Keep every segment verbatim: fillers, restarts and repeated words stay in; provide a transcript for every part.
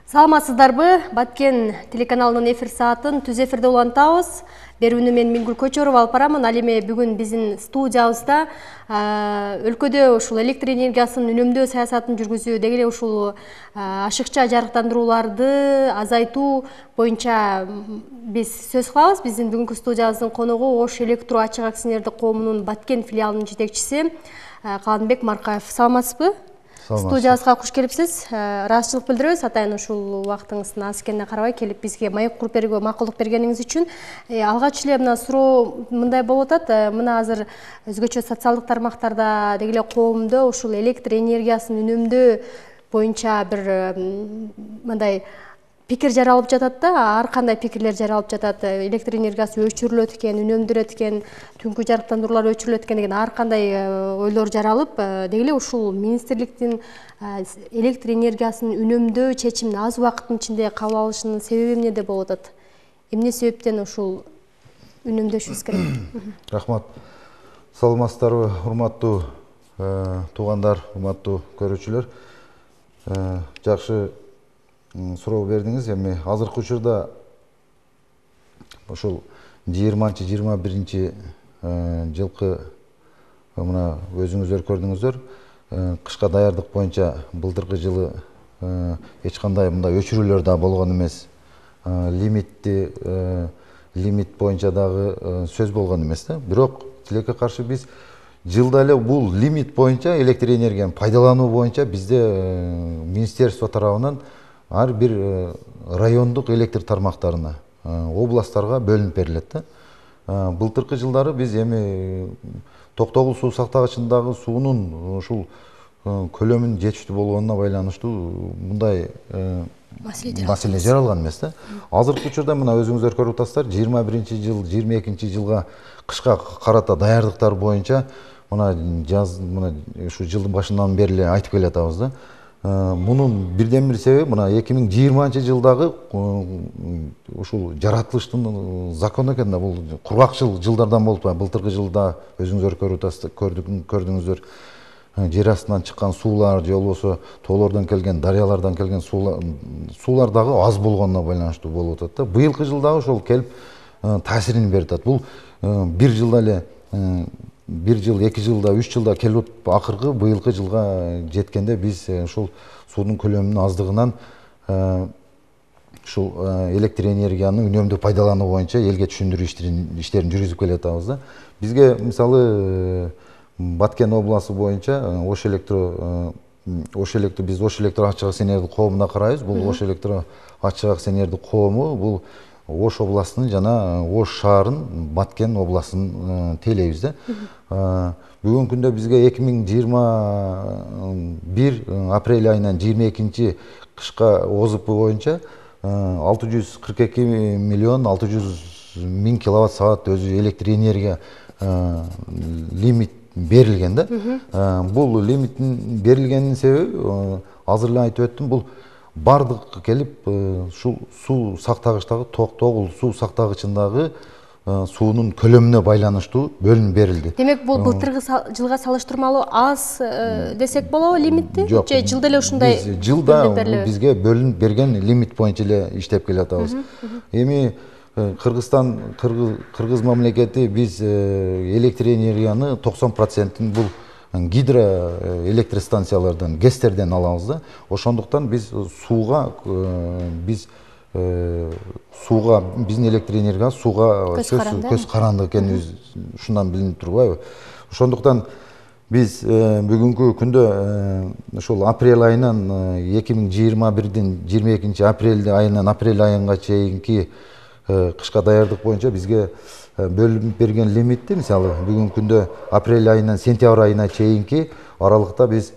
Саламатсыздарбы? Баткен телеканалынын эфир саатын түз эфирде улантабыз. Берүүнү мен Мингүл Көчөрова алып барамын. Ал эми бүгүн биздин студиябызда өлкөдө ушул электр энергиясын үнөмдөө саясатын жүргүзүү, деги эле ушул ашыкча жарыктандырууларды азайтуу боюнча биз сөз кылабыз. Биздин бүгүнкү студиябыздын коногу Ош Электро ачык акционердик коомунун Баткен филиалынын жетекчиси Каланбек Маркаев. Саламатсызбы? Студиябызга куш келипсиз. Ыраазычылык билдиребиз. Атайын ушул убактыңыздын аз экенине карабай келип бизге маек куруп берүүгө макулдук бергениңиз үчүн. Алгач эле мына суроо мындай болуп атат. Мына азыр өзгөчө социалдык тармактарда, деги эле коомдо ушул электр энергиясын үнөмдөө боюнча бир мындай пикир жаралып жатат да, ар кандай пикирлер жаралып жатат. Электр энергиясы өчүрүлөт экен, үнөмдөлөт экен, түнкү жарыктандыруулар өчүрүлөт экен деген ар кандай ойлор жаралып, деги эле ушул министрликтин электр энергиясын үнөмдөө чечимин аз убакыттын ичинде кабыл алышынын себеби эмнеде болуп атат? Эмне себептен ушул үнөмдөшүбүз керек? Рахмат. Саламатсыздарбы, урматтуу туугандар, урматтуу көрүүчүлөр. Жакшы суроо бердиңиз. Эми азыркы учурда ошол жыйырманчы жыйырма биринчи жылкы мына өзүңүздөр көрдүңүздөр, кышка даярдык боюнча былтыркы жылы эч кандай мындай өчүрүүлөр да болгон эмес. Лимитти лимит боюнча дагы сөз болгон эмес да. Бирок тилекке каршы биз жылда эле бул лимит боюнча электр энергияны пайдалануу боюнча бизде министерство тарабынан ар бир райондук электр тармактарына, областтарга бөлүнүп берилет да. Былтыркы жылдары биз эми Токтогул суу сактагычындагы суунун ушул көлөмүнүн жетиштүү болгонуна байланыштуу мындай маселе жаралган эмес да. Азыркы учурда мына өзүңүздөр көрүп атасыздар, жыйырма биринчи жыл, жыйырма экинчи жылга кышка карата даярдыктар боюнча мына жаз мына ушу жылдын башынан бери эле айтып келатабыз да. Мунун бирден бир себеби мына эки миң жыйырманчы жылдагы ушул жаратылыштын закону экен да. Бул кургакчыл жылдардан болуп атат. Былтыркы жылда өзүңүздөр көрүп атасыздар, көрдүңүздөр, жер астынан чыккан суулар же болбосо тоолордон келген, дарыялардан келген суулар дагы аз болгонуна байланыштуу болуп атат да. Быйылкы жылдагы ошол келип таасирин берип атат. Бул бир жылда эле бир жыл, эки жылда, үч жылда келип акыркы быйылкы жылга жеткенде биз ушул суунун көлөмүнүн аздыгынан ушул электр энергияны үнөмдүү пайдалануу боюнча элге түшүндүрүү иштерин жүргүзүп келатабыз да. Бизге мисалы Баткен областы боюнча Ош Электро Ош Электро биз Ош Электро ачык акционердик коомуна карайбыз. Бул Ош Электро ачык акционердик коому бул Ош областынын жана Ош шаарын Баткен областын тейлейбиз да. Бүгүнкү күндө бизге эки миң жыйырма бир апрель айынан жыйырма экинчи кышка О З П боюнча алты жүз кырк эки миллион алты жүз миң киловатт саат өзү электр энергия лимит берилген да. Бул лимиттин берилгенинин себеби азыр эле айтып өттүм, бул бардык келип ушул суу сактагычтагы Токтогул суу сактагычындагы суунун көлөмүнө байланыштуу бөлүнүп берилди. Демек бул былтыркы жылга салыштырмалуу аз десек болобу лимитти? Жок, же жылда эле ушундай жылда бизге бөлүнүп берген лимит боюнча эле иштеп келатабыз. Эми Кыргызстан кыргыз мамлекети биз электр энергияны токсон процентин бул гидроэлектростанциялардан, гэстерден алабыз да. Ошондуктан биз сууга биз сууга биздин электр энергия сууга көз каранды экенибиз ушундан билинип турбайбы? Ошондуктан биз бүгүнкү күндө ушул апрель айынан эки миң жыйырма бирдин жыйырма экинчи апрель айынан апрель айынга чейинки кышка даярдык боюнча бизге бөлүнүп берген лимитти мисалы бүгүнкү күндө апрель айынан сентябрь айына чейинки аралыкта биз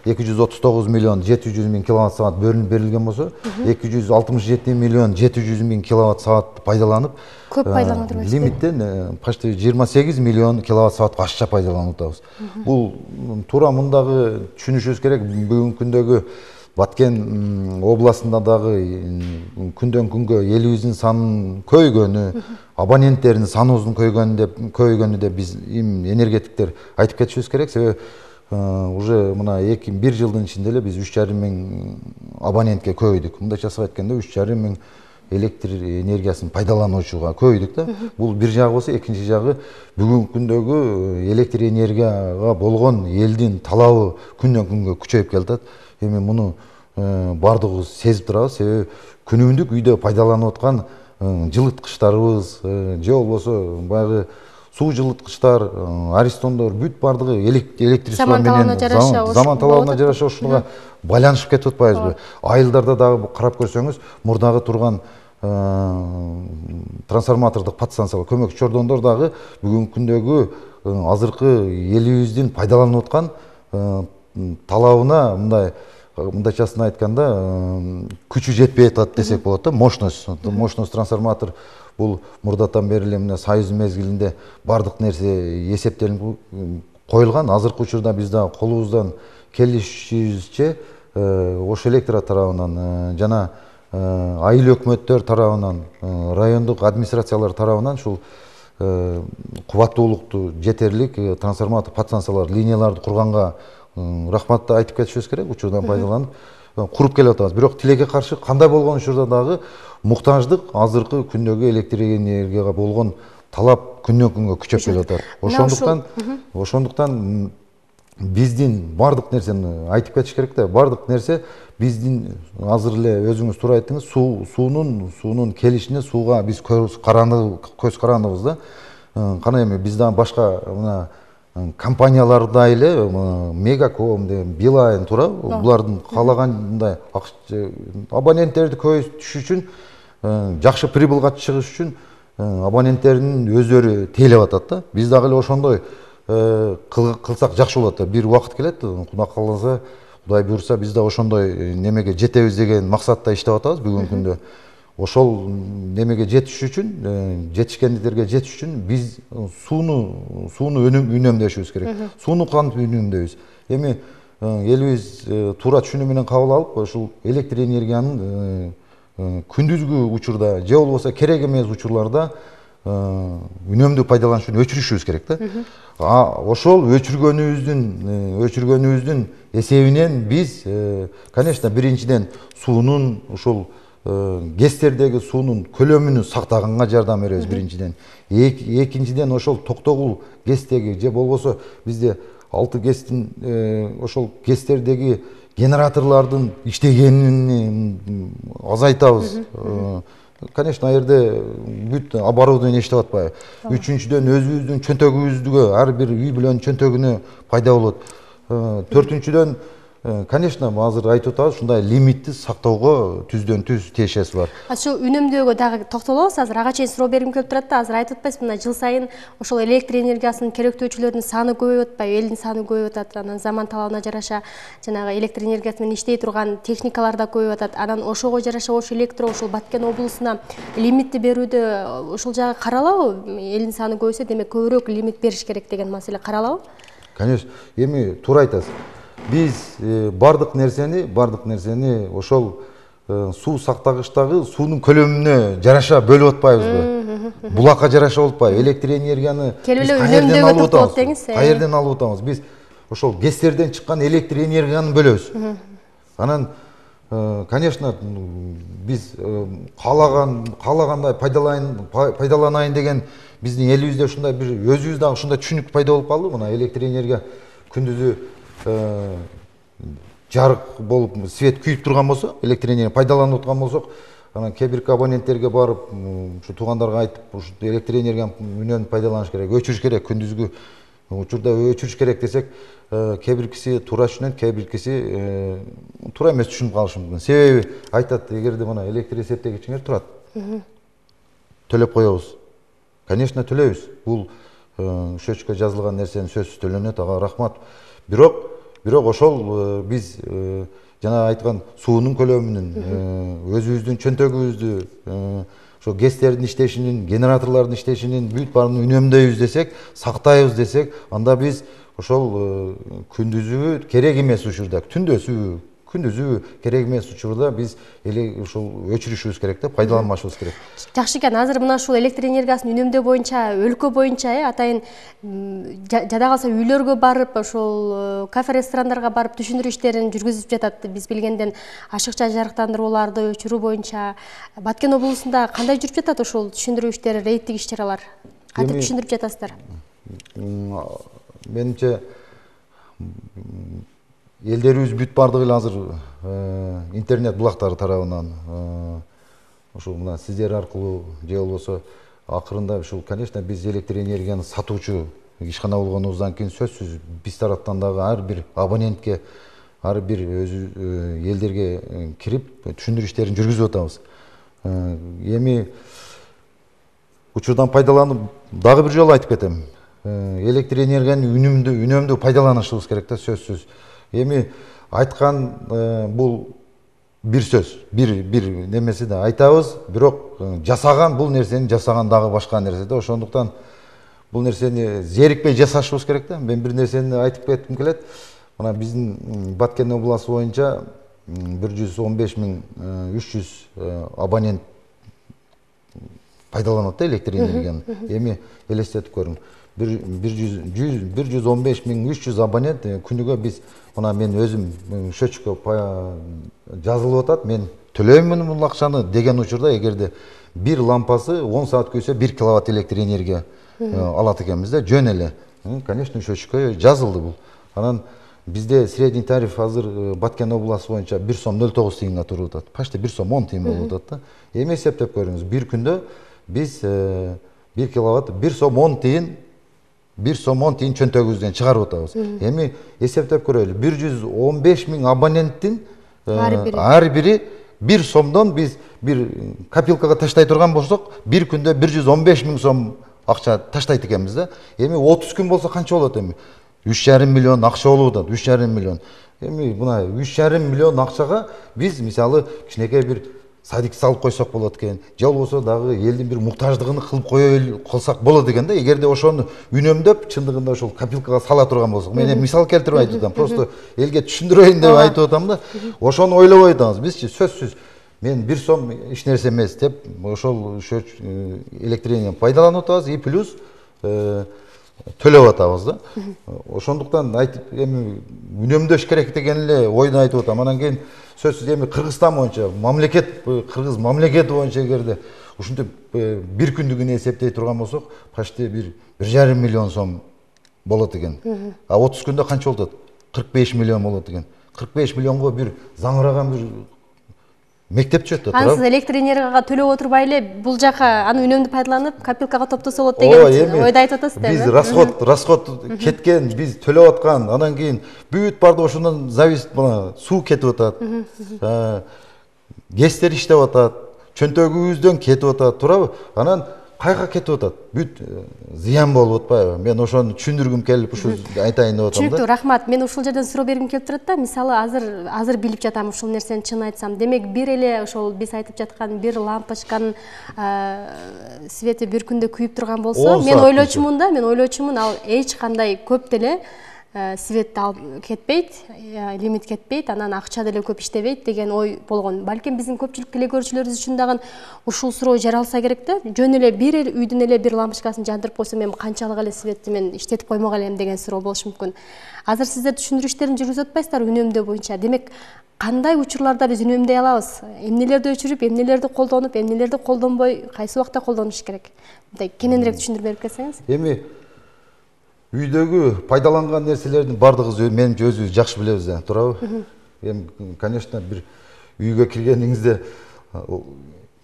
эки жүз отуз тогуз миллион жети жүз миң киловатт саат бөлүнүп берилген болсо, эки жүз алтымыш жети миллион жети жүз миң киловатт саат пайдаланып, көп пайдаланып атабыз. Лимиттен почти жыйырма сегиз миллион киловатт саатка ашча пайдаланып атабыз. Бул туура мындагы түшүнүшүбүз керек. Бүгүнкү күндөгү Баткен областында дагы күндөн күнгө элибиздин санынын көйгөнү, абоненттердин саныбыздын көйгөнү деп биз энергетиктер айтып кетишибиз керек. Себеби уже мына эки бир жылдын ичинде эле биз үч жарым миң абонентке көбөйдүк. Мындайча айтканда үч жарым миң электр энергиясын пайдалануучуга көбөйдүк да. Бул бир жагы болсо, экинчи жагы бүгүнкү күндөгү электр энергияга болгон элдин талабы күндөн күнгө күчөйүп келатат. Эми муну бардыгыбыз сезип турабыз. Себеби күнүмдүк үйдө пайдаланып аткан жылыткычтарыбыз же болбосо баягы суу жылыткычтар, аристондор бүт бардыгы электричество менен заман талабына жараша ушуга байланышып кетип атпайбызбы? Айылдарда дагы карап көрсөңүз, мурдагы турган трансформатордук подстанциялар, көмөкчү чордондор дагы бүгүнкү күндөгү азыркы элибиздин пайдаланып аткан талабына мындай мындайчасын айтканда күчү жетпей атат десек болот да. Мощность, мощность трансформатор бул мурдатан бери эле мына Союз мезгилинде бардык нерсе эсептелип коюлган. Азыркы учурда биз дагы колубуздан келишибизче Ош Электро тарабынан жана айыл өкмөттөр тарабынан, райондук администрациялар тарабынан ушул кубаттуулукту жетерлик трансформатор подстанциялар, линияларды курганга рахматты айтып кетишибиз керек. Учурдан пайдаланып куруп келип атабыз. Бирок тилекке каршы кандай болгон учурда дагы муктаждык азыркы күндөгү электр энергияга болгон талап күндөн күнгө күчөп келип атат. Ошондуктан ошондуктан биздин бардык нерсени айтып кетиш керек да. Бардык нерсе биздин азыр эле өзүңүз туура айттыңыз, суу суунун суунун келишине сууга биз көз көз карандыбыз да. Кана эми биз дагы башка мына компанияларда эле Мегаком, Билайн тура булардын каалагандай абоненттерди көбөйтүш үчүн, жакшы прибылга чыгыш үчүн абоненттердин өздөрү тейлеп атат да. Биз дагы эле ошондой кылсак жакшы болот да. Бир убакыт келет, Кудай кааласа, Кудай буйрса, биз да ошондой немеге жетебиз деген максатта иштеп атабыз бүгүнкү күндө. Ошол немеге жетиш үчүн, жетишкендиктерге жетиш үчүн биз сууну сууну үнөмдөшүбүз керек. Сууну кантип үнөмдөйбүз? Эми элибиз туура түшүнүү менен кабыл алып, ушул электр энергиянын күндүзгү учурда же болбосо керек эмес учурларда үнөмдүү пайдаланышын өчүрүшүбүз керек да. А ошол өчүргөнүбүздүн өчүргөнүбүздүн эсебинен биз, конечно, биринчиден суунун ушул гэстердеги суунун көлөмүн сактаганга жардам беребиз биринчиден. Экинчиден ошол токтогул гэстеги же болбосо бизде алты гэстин ошол гэстердеги генераторлордун иштегенин азайтабыз. Конечно, аерде бүт оборудование иштеп атпайбы. Үчүнчүдөн өзүбүздүн чөнтөгүбүздүгө, ар бир үй бүлөнүн чөнтөгүнө пайда болот. Төртүнчүдөн, конечно, азыр айтып атабыз, ушундай лимитти сактоого түздөн түз тиешеси бар. Ошол үнөмдөөгө дагы токтолобуз. Азыр ага чейин суроо бергим келип турат да. Азыр айтып атпайсызбы, мына жыл сайын ошол электр энергиясын керектөөчүлөрдүн саны көбөйүп атпайбы, элдин саны көбөйүп атат. Анан заман талабына жараша жанагы электр энергиясы менен иштей турган техникалар да көбөйүп атат. Анан ошого жараша Ош Электро ушул Баткен облусуна лимитти берүүдө ушул жагы каралабы? Элдин саны көбөйсө, демек көбүрөөк лимит бериш керек деген маселе каралабы? Конечно, эми туура айтасыз. Биз бардык нерсени, бардык нерсени ошол суу сактагычтагы суунун көлөмүнө жараша бөлүп атпайбызбы? Булакка жараша болуп атпайбы? Электр энергияны үнөмдөөгө токтолот деңиз. Каерден алып атабыз? Биз ошол гэстерден чыккан электр энергияны бөлөбүз. Анан, конечно, биз каалаган каалагандай пайдаланайын деген биздин элибизде ушундай бир өзүбүз дагы ушундай түшүнүк пайда болуп калды. Мына электр энергия күндүзү жарык болуп свет күйүп турган болсо, электр энергия пайдаланып аткан болсок, анан кээ бирки абоненттерге барып, ушу туугандарга айтып, ушу электр энергияны үнөмдүү пайдаланыш керек, өчүрүш керек, күндүзгү учурда өчүрүш керек десек, кээ биркиси туура түшүнөт, кээ биркиси туура эмес түшүнүп калышы мүмкүн. Себеби айтат, эгерде мына электр эсептегичиңер турат, төлөп коебуз. Конечно, төлөйбүз. Бул счетчикке жазылган нерсенин сөзсүз төлөнөт, ага рахмат. Бирок бирок ошол биз жана айткан суунун көлөмүнүн, өзүбүздүн чөнтөгүбүздү, ошо гэстердин иштешинин, генераторлордун иштешинин бүт баарын үнөмдөйбүз десек, сактайбыз десек, анда биз ошол күндүзү керек эмес учурда, түндөсү, күндүзү керек эмес учурда биз ушул өчүрүшүбүз керек да, пайдаланбашыбыз керек. Жакшы экен. Азыр мына ушул электр энергиясын үнөмдөө боюнча өлкө боюнча э атайын жада калса үйлөргө барып, ошол кафе ресторандарга барып түшүндүрүү иштерин жүргүзүп жатат. Биз билгенден ашыкча жарыктандырууларды өчүрүү боюнча Баткен облусунда кандай жүрүп жатат ошол түшүндүрүү иштери, рейдтик ишчаралар? Кантип түшүндүрүп жатасыздар? Менимче элдерибиз бүт бардыгы эле азыр интернет булактары тарабынан ушул мына сиздер аркылуу же болбосо акырында ушул, конечно, биз электр энергияны сатуучу ишкана болгонубуздан кийин сөзсүз биз тараптан дагы ар бир абонентке, ар бир өзү элдерге кирип түшүндүрүү иштерин жүргүзүп атабыз. Эми учурдан пайдаланып дагы бир жолу айтып кетем. Электр энергияны үнөмдүү үнөмдүү пайдаланышыбыз керек да, сөзсүз. Эми айткан бул бир сөз, бир бир немеси да айтабыз, бирок жасаган бул нерсени жасаган дагы башка нерсе да. Ошондуктан бул нерсени зерикпей жасашыбыз керек да. Мен бир нерсени айтып кетким келет. Мына биздин Баткен областы боюнча бир жүз он беш миң үч жүз абонент пайдаланат электр энергияны. Эми элестетип көрүң. бир жүз он беш миң үч жүз абонент күнүгө биз, мына мен өзүм счетчикке жазылып атат, мен төлөймүн бул акчаны деген учурда, эгерде бир лампасы он саат күйсө бир киловатт электр энергия алат экенбиз да, жөн эле. Конечно, счетчикке жазылды бул. Анан бизде средний тариф азыр Баткен областы боюнча бир сом нөл тогуз тыйынга туруп атат. Почти бир сом он тыйын болуп атат да. Эми эсептеп көрүңүз, бир күндө биз бир киловатт бир сом он тыйын бир сом он тыйын чөнтөгүбүздөн чыгарып атабыз. Эми эсептеп көрөлү, бир жүз он беш миң абоненттин ар бири бир сомдон биз бир копилкага таштай турган болсок, бир күндө бир жүз он беш миң сом акча таштайт экенбиз да. Эми отуз күн болсо канча болот эми? үч жарым миллион акча болуп атат, үч жарым миллион. Эми мына үч жарым миллион акчага биз мисалы кичинекей бир садик салып койсок болот экен, же болбосо дагы элдин бир муктаждыгын кылып кое калсак болот экен да. Эгерде ошону үнөмдөп, чындыгында ошол копилкага сала турган болсок, мен эми мисал келтирип айтып атам, просто элге түшүндүрөйүн деп айтып атам да. Ошону ойлобой атабыз. Бизчи сөзсүз мен бир сом эч нерсе эмес деп ошол электр энергияны пайдаланып атабыз, и плюс төлөп атабыз да. Ошондуктан айтып эми үнөмдөш керек деген эле ойду айтып атам. Анан кийин сөзсүз эми Кыргызстан боюнча, мамлекет, Кыргыз мамлекети боюнча эгерде ушинтип бир күндүгүнө эсептей турган болсок, почти бир бир жарым миллион сом болот экен. А отуз күндө канча болот? кырк беш миллион болот экен. кырк беш миллионго бир заңыраган бир мектеп түшөт да. Аны сиз электр энергияга төлөп отурбай эле бул жака аны үнөмдүү пайдаланып копилкага топтосо болот деген ойду айтып атасыз да. Биз расход, расход кеткен, биз төлөп аткан, анан кийин бүт бардыгы ошондон зависит, мына суу кетип атат. Гестер иштеп атат, чөнтөгүбүздөн кетип атат, туурабы? Анан кайга кетип атат? Бүт зыян болуп атпайбы? Мен ошону түшүндүргүм келип ушу айтайын деп атам да. Түшүнүктүү, рахмат. Мен ушул жерден суроо бергим келип турат да. Мисалы, азыр азыр билип жатам ушул нерсени, чын айтсам. Демек, бир эле ошол биз айтып жаткан бир лампочканын свети бир күндө күйүп турган болсо, мен ойлочумун да, мен ойлочумун ал эч кандай көп деле свет алып кетпейт, лимит кетпейт, анан акча деле көп иштебейт деген ой болгон. Балким биздин көпчүлүк теле көрүүчүлөрүбүз үчүн дагы ушул суроо жаралса керек да. Жөн эле бир эле үйдүн эле бир лампочкасын жандырып койсом, эми канчалык эле светти мен иштетип коймок элем деген суроо болушу мүмкүн. Азыр сиздер түшүндүрүү иштерин жүргүзүп атпайсыздар үнөмдөө боюнча. Демек, кандай учурларда биз үнөмдөй алабыз? Эмнелерди өчүрүп, эмнелерди колдонуп, эмнелерди колдонбой, кайсы убакта колдонуш керек? Мындай кененирээк түшүндүрүп берип кетсеңиз. Эми үйдөгү пайдаланган нерселердин бардыгыбыз менимче өзүбүз жакшы билебиз да, туурабы? Эми, конечно, бир үйгө киргениңизде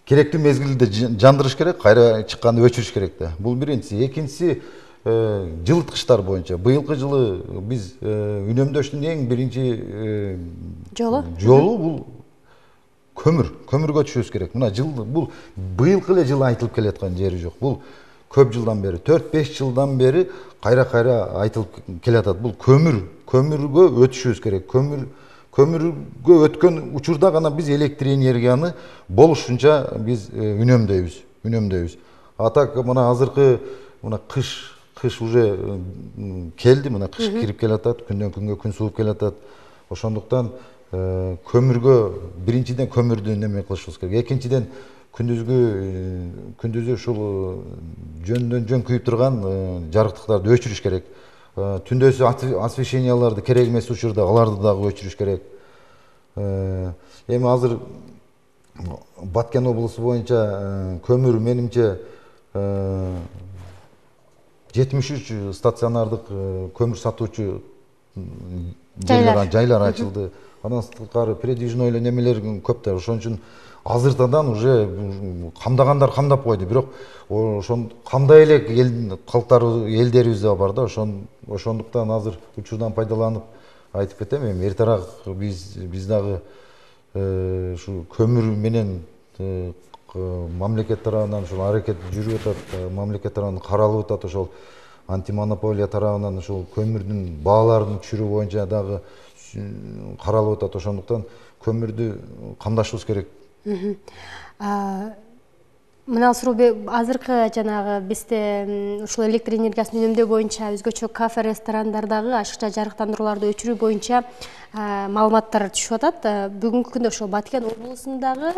керектүү мезгилде жандырыш керек, кайра чыкканда өчүрүш керек да. Бул биринчиси. Экинчиси, жылыткычтар боюнча. Быйылкы жылы биз үнөмдөштүн эң биринчи жолу жолу бул көмүр, көмүргө түшүбүз керек. Мына жыл бул быйылкы эле жылы айтылып келаткан жери жок. Бул көп жылдан бери, төрт беш жылдан бери кайра-кайра айтылып келатат. Бул көмүр, көмүргө өтүшүбүз керек. Көмүр, көмүргө өткөн учурда гана биз электр энергияны болушунча биз үнөмдөйбүз, үнөмдөйбүз. А так мына азыркы мына кыш, кыш уже келди, мына кыш кирип келатат, күндөн күнгө күн сууп келатат. Ошондуктан көмүргө биринчиден көмүрдү неме кылышыбыз керек. Экинчиден күндүзгү күндүзү ушул жөндөн жөн күйүп турган жарыктыктарды өчүрүш керек. Түндөсү освещенияларды керек эмес учурда аларды дагы өчүрүш керек. Эми азыр Баткен облусу боюнча көмүр менимче жетимиш үч стационардык көмүр сатуучу жайлар ачылды. Андан сырткары передвижной эле немелер көп да. Ошон үчүн азыртадан уже камдагандар камдап койду. Бирок ошон кандай эле эл калктар элдерибиз да бар да. Ошон ошондуктан азыр учурдан пайдаланып айтып кетем. Эми эртерээк биз биз дагы ушу көмүр менен мамлекет тарабынан ушул аракет жүрүп атат, мамлекет тарабынан каралып атат. Ошол антимонополия тарабынан ушул көмүрдүн бааларын түшүрүү боюнча дагы каралып атат. Ошондуктан көмүрдү камдашыбыз керек. Мына Суробек, азыркы жанагы бизде ушул электр энергиясын үнөмдөө боюнча өзгөчө кафе, ресторандардагы ашыкча жарыктандырууларды өчүрүү боюнча маалыматтар түшүп атат. Бүгүнкү күндө ошол Баткен облусундагы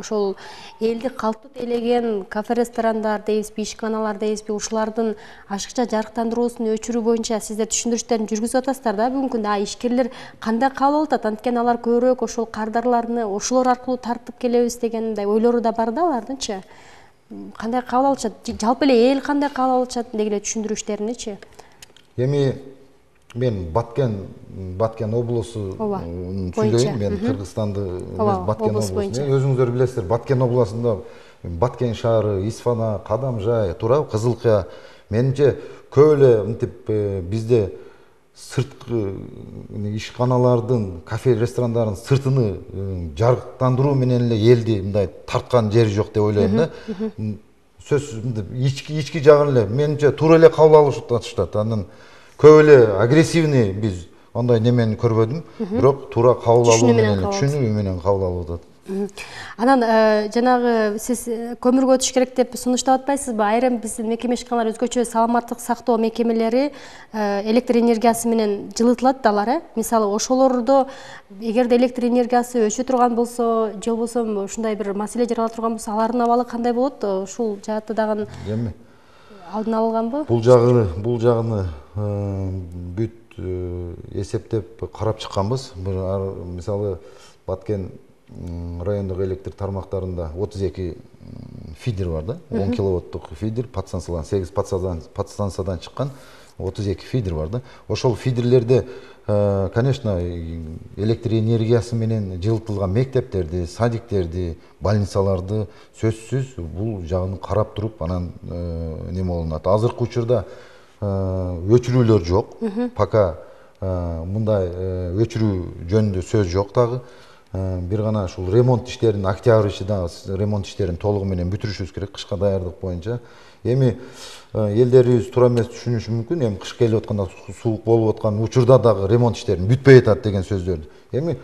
ошол элди калктуу тейлеген кафе, ресторандар дейбизби, ишканалар дейбизби, ушулардын ашыкча жарыктандыруусун өчүрүү боюнча сиздер түшүндүрүштөрүн жүргүзүп атасыздар да бүгүнкү күндө. А ишкерлер кандай кабыл алып атат? Анткени алар көбүрөөк ошол кардарларны ошолор аркылуу тартып келебиз деген мындай ойлору да бар да алардынчы. Кандай кабыл алышат? Жалпы эле эл кандай кабыл алышат деги эле түшүндүрүштөрүнүчү? Эми мен Баткен Баткен облусу сүйлөйүн. Мен Кыргызстанды эмес, Баткен облусу. Өзүңүздөр билесиздер, Баткен облусунда Баткен шаары, Исфана, Кадамжай, Тураб, Кызылкая. Менимче көп эле мынтип бизде сырткы ишканалардын, кафе, ресторандардын сыртыны жарыктандыруу менен эле элди мындай тарткан жери жок деп ойлойм да. Сөзсүз мынтип ички ички жагын эле менимче туура эле кабыл алышып атышат. Анан көп эле агрессивный биз андай немени көрбөдүм. Бирок туура кабыл алуу менен, түшүнүү менен кабыл алып атат. Анан жанагы сиз көмүргө өтүш керек деп сунуштап атпайсызбы? Айрым биздин мекеме ишканалар өзгөчө саламаттык сактоо мекемелери электр энергиясы менен жылытылат да алар, э? Мисалы ошолордо эгерде электр энергиясы өчө турган болсо, же болбосо ушундай бир маселе жарала турган болсо, алардын абалы кандай болот? Ушул жаатта дагы эми алдын алынганбы? Бул жагы, бул жагыны бүт эсептеп карап чыкканбыз. Мисалы Баткен райондук электр тармактарында отуз эки фидер бар да, он киловаттык фидер, подстанциялар сегиз подстанциядан чыккан отуз эки фидер бар да. Ошол фидерлерде, конечно, электр энергиясы менен жылытылган мектептерди, садиктерди, больницаларды сөзсүз бул жагын карап туруп, анан неме болунат. Азыркы учурда өчүрүүлөр жок. Пока мындай өчүрүү жөнүндө сөз жок дагы. Бир гана ушул ремонт иштерин, октябрь ичи дагы ремонт иштерин толугу менен бүтүрүшүбүз керек кышка даярдык боюнча. Эми элдерибиз туура эмес түшүнүшү мүмкүн. Эми кыш келип атканда, суук болуп аткан учурда дагы ремонт иштерин бүтпөй атат деген сөздөрдү. Эми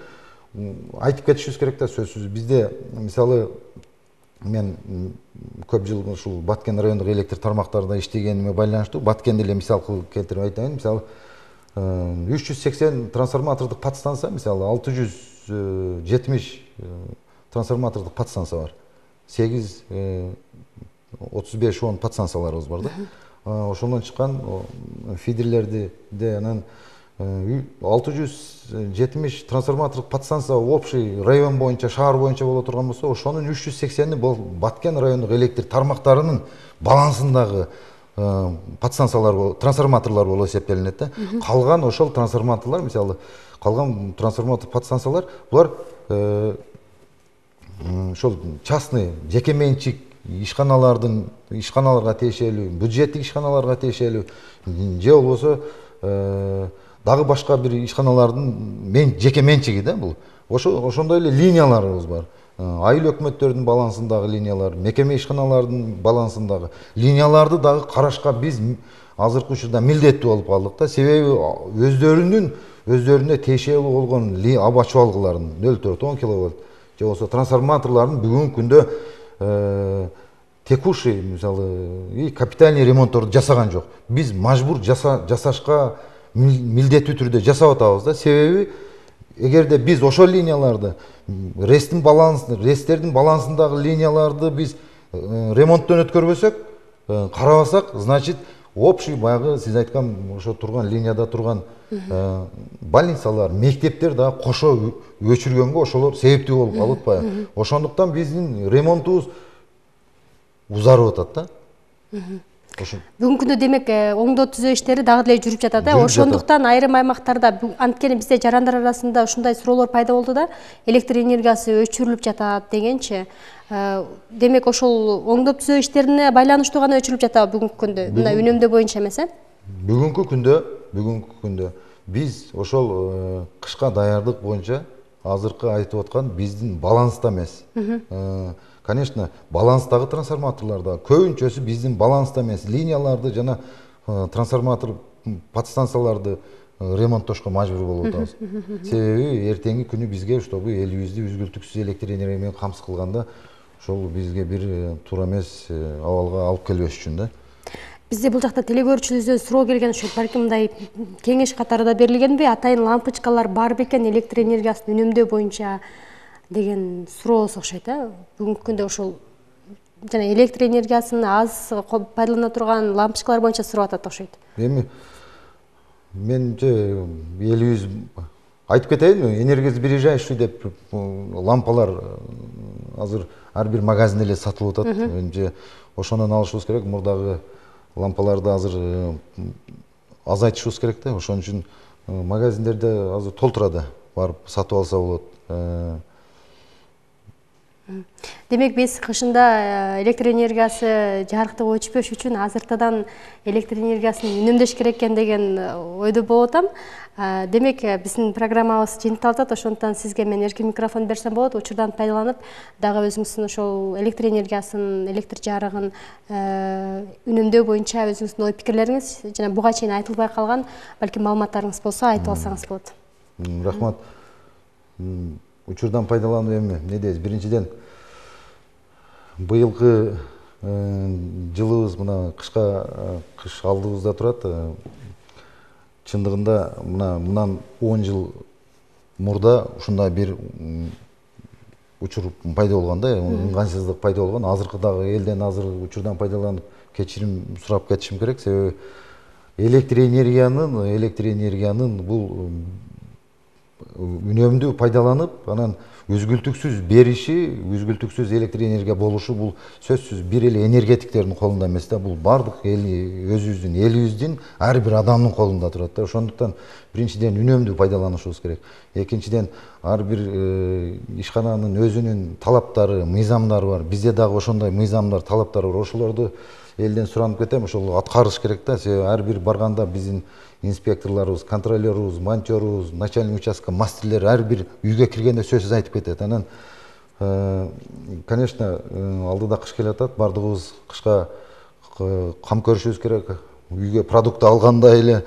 айтып кетишибиз керек да, сөзсүз. Бизде мисалы мен көп жыл ушул Баткен райондук электр тармактарында иштегениме байланыштуу Баткенди эле мисал кылып келтирип айтайын. Мисалы үч жүз сексен трансформатордук подстанция, мисалы алты жүз жетимиш трансформатордук подстанция бар. сегиз отуз беш он подстанцияларыбыз бар да. Ошондон чыккан фидерлерди де анан алты жүз жетимиш трансформатордук подстанция общий район боюнча, шаар боюнча боло турган болсо, ошонун үч жүз сексени бул Баткен райондук электр тармактарынын балансындагы подстанциялар, трансформаторлор болуп эсептелинет да. Калган ошол трансформаторлор, мисалы калган трансформатор подстанциялар, булар ошол частный, жеке менчик ишканалардын, ишканаларга тиешелүү, бюджеттик ишканаларга тиешелүү, же болбосо дагы башка бир ишканалардын мен жеке менчиги да бул. Ошондой эле линияларыбыз бар. Айыл өкмөттөрдүн балансындагы линиялар, мекеме ишканалардын балансындагы линияларды дагы карашка биз азыркы учурда милдеттүү болуп калдык да. Себеби өздөрүнүн өздөрүнө тиешелүү болгон аба чуалгыларын нөл төрт он киловатт же болбосо трансформаторлордун бүгүнкү күндө текущий, мисалы, и капитальный ремонтторду жасаган жок. Биз мажбур жасашка милдеттүү түрдө жасап атабыз да. Себеби эгерде биз ошол линияларды рестин балансын ресттердин балансындагы линияларды биз ремонттон өткөрбөсөк, карабасак, значит общий баягы сиз айткан ошо турган линияда турган больницалар, мектептер дагы кошо өчүргөнгө ошолор себептүү болуп калып атпайбы? Ошондуктан биздин ремонтубуз узарып атат да. Бүгүнкү күндө демек оңдоо түзөө иштери дагы деле жүрүп жатат. Ошондуктан айрым аймактарда анткени бизде жарандар арасында ушундай суроолор пайда болду да, электр энергиясы өчүрүлүп жатат дегенчи. Демек ошол оңдоо түзөө иштерине байланыштуу гана өчүрүлүп жатабы бүгүнкү күндө? Мына үнөмдөө боюнча эмес э? Бүгүнкү күндө, бүгүнкү күндө биз ошол кышка даярдык боюнча азыркы айтып аткан биздин баланста эмес. Конечно, баланстагы трансформаторларда көбүнчөсү биздин баланста эмес, линияларды жана трансформатор подстанцияларды ремонттошко мажбур болуп атабыз. Себеби эртеңки күнү бизге чтобы элибизди үзгүлтүксүз электр энергия менен камсыз кылганда ошол бизге бир туура эмес абалга алып келбеш үчүн да. Бизде бул жакта телегөрүүчүлөрүбүздөн суроо келген, ошо балким мындай кеңеш катары да берилгенби, атайын лампочкалар бар бекен электр энергиясын үнөмдөө боюнча деген суроосу окшойт э. Бүгүнкү күндө ошол жана электр энергиясын аз пайдалана турган лампочкалар боюнча сурап атат окшойт. Эми менче элибиз айтып кетейинби, энергосбережающий деп лампалар азыр ар бир магазинде эле сатылып атат. Менче ошондон алышыбыз керек. Мурдагы лампаларды азыр азайтышыбыз керек да. Ошон үчүн магазиндерде азыр толтурады, барып сатып алса болот. Демек биз кышында электр энергиясы жарыктыгы өчпөш үчүн азыртадан электр энергиясын үнөмдөш керек экен деген ойдо болуп атам. Демек биздин программабыз жыйынтыкталып атат. Ошондуктан сизге мен эркин микрофон берсем болот. Учурдан пайдаланып, дагы өзүңүздүн ошол электр энергиясын, электр жарыгын үнөмдөө боюнча өзүңүздүн ой пикирлериңиз жана буга чейин айтылбай калган балким маалыматтарыңыз болсо айтып алсаңыз болот. Рахмат. Учурдан пайдаланып эми эмне дейбиз? Биринчиден быйылкы жылыбыз мына кышка кыш алдыбызда турат. Чындыгында мына мындан он жыл мурда ушундай бир учур пайда болгон да, ыңгайсыздык пайда болгон. Азыркы дагы элден азыр учурдан пайдаланып кечирим сурап кетишим керек. Себеби электр энергиянын, электр энергиянын бул үнөмдүү пайдаланып, анан үзгүлтүксүз бериши, үзгүлтүксүз электр энергия болушу бул сөзсүз бир эле энергетиктердин колунда эмес да, бул бардык өзүбүздүн элибиздин ар бир адамдын колунда турат да. Ошондуктан биринчиден үнөмдүү пайдаланышыбыз керек. Экинчиден ар бир ишкананын өзүнүн талаптары, мыйзамдары бар. Бизде дагы ошондой мыйзамдар, талаптар бар. Ошолорду элден суранып кетем, ошол аткарыш керек да. Себеби ар бир барганда биздин инспекторлорубуз, контролерубуз, монтёрубуз, начальник участка мастерлер ар бир үйгө киргенде сөзсүз айтып кетет. Анан, конечно, алдыда кыш келе атат, бардыгыбыз кышка кам көрүшүбүз керек. Үйгө продукт алганда эле,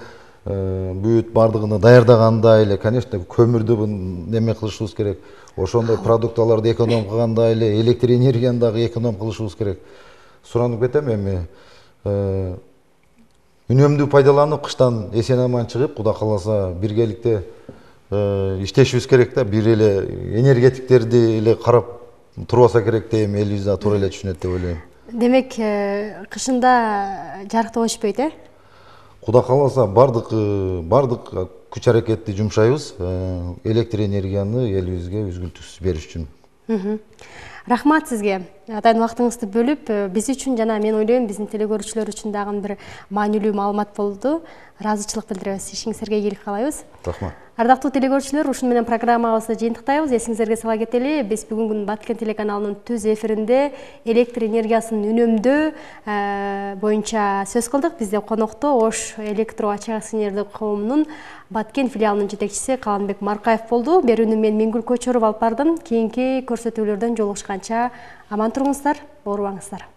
бүт бардыгын даярдаганда эле, конечно, көмүрдү неме кылышыбыз керек. Ошондой продукталарды эконом кылганда эле электр энергияны дагы эконом кылышыбыз керек. Суранып кетем эми үнөмдүү пайдаланып, кыштан эсен аман чыгып, Кудай кааласа биргеликте иштешибиз керек да. Бир эле энергетиктерди эле карап турбаса керек дейм, элибиз да туура эле түшүнөт деп ойлойм. Демек, кышында жарыктык өчпөйт э? Кудай кааласа бардык бардык күч аракетти жумшайбыз электр энергияны элибизге үзгүлтүксүз бериш үчүн. Рахмат сизге. Атайын убактыңызды бөлүп, биз үчүн жана мен ойлойм, биздин телекөрүүчүлөр үчүн дагы бир маанилүү маалымат болду. Ыраазычылык билдиребиз. Ишиңизге ийгилик каалайбыз. Рахмат. Ардактуу телекөрүүчүлөр, ушуну менен программабызды жыйынтыктайбыз. Эсиңиздерге сала кетели, биз бүгүн Баткен телеканалынын түз эфиринде электр энергиясын үнөмдөө боюнча сөз кылдык. Бизде конокто Ош электро ачык акционердик коомунун Баткен филиалынын жетекчиси Каланбек Маркаев болду. Берүүнү мен Мингүл Көчөрүп алып бардым. Кийинки көрсөтүүлөрдөн жолугушканча аман туруңуздар, оорубаңыздар.